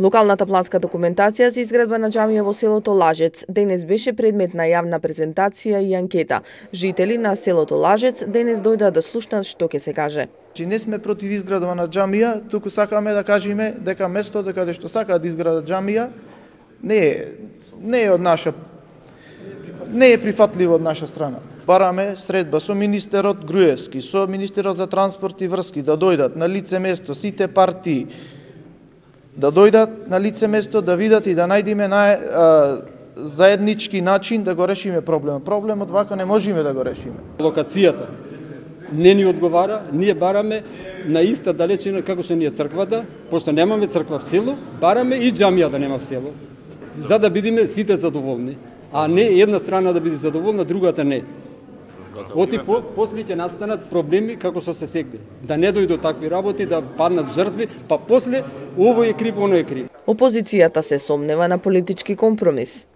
Локалната планска документација за изградба на џамија во селото Лажец денес беше предмет на јавна презентација и анкета. Жители на селото Лажец денес дојдоа да слушнат што ќе се каже. Не сме против изградба на џамија, туку сакаме да кажеме дека место каде што сакаат да изградат џамија не е прифатливо од наша страна. Бараме средба со министерот Груевски, со министерот за транспорт и врски да дојдат на лице место сите партии, да дојдат на лице место да видат и да најдеме заеднички начин да го решиме проблемот. Проблемот вака не можеме да го решиме. Локацијата не ни одговара, ние бараме на иста далечина како што ни е црквата, пошто немаме црква в село, бараме и џамија да нема в село, за да бидеме сите задоволни, а не една страна да биде задоволна, другата не. Оти после ќе настанат проблеми како што се сегде. Да не дојдат такви работи, да паднат жртви, па после овој е крив, оној е крив. Опозицијата се сомнева на политички компромис.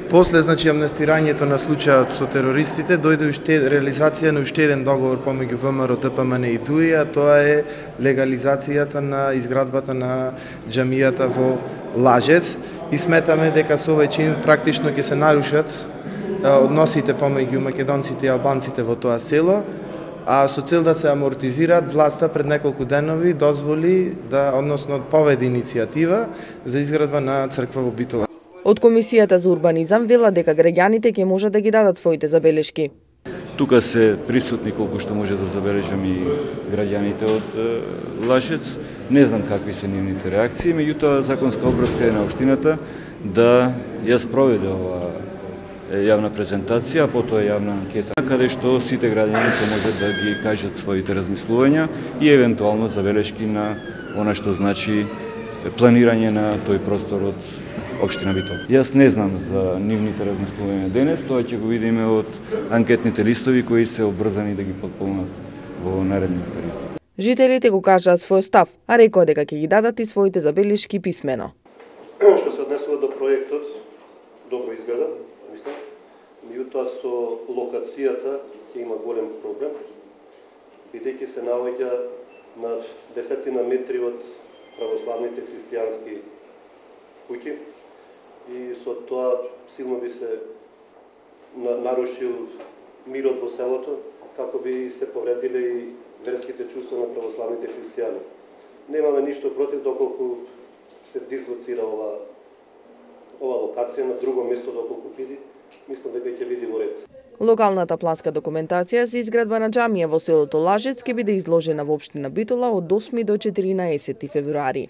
После амнестирањето на случајот со терористите дојде реализација на уште еден договор помеѓу ВМРО, ДПМН и ДУИ, а тоа е легализацијата на изградбата на џамијата во Лажец и сметаме дека со овој чин практично ќе се нарушат односите помеѓу македонците и албанците во тоа село, а со цел да се амортизираат, власта пред неколку денови дозволи односно поведе иницијатива за изградба на црква во Битола. Од Комисијата за урбанизам велат дека граѓаните ќе можат да ги дадат своите забелешки. Тука се присутни колку што може да забележам и граѓаните од Лажец. Не знам какви се нивните реакции, меѓутоа законска обврска е на општината да ја спроведе ова јавна презентација, а потоа јавна анкета, каде што сите граѓани можат да ги кажат своите размислувања и евентуално забелешки на она што значи планирање на тој простор од општина Битола. Јас не знам за нивните размислувања денес, тоа ќе го видиме од анкетните листови кои се обврзани да ги потполнат во наредниот период. Жителите го кажаат свој став, а рекоа дека ќе ги дадат и своите забелешки писмено. Што се однесува до проектот, добро изгледа, мислам. Меѓутоа со локацијата ќе има голем проблем, бидејќи се наоѓа на десетина метри од православните христијански куќи и со тоа силно би се нарушил мирот во селото, како би се повредиле и верските чувства на православните христијани. Немаме ништо против доколку се дислоцира ова локација на друго место доколку биде, мислам дека ќе биде во ред. Локалната планска документација за изградба на џамија во селото Лажец ќе биде изложена во општина Битола од 8 до 14 февруари.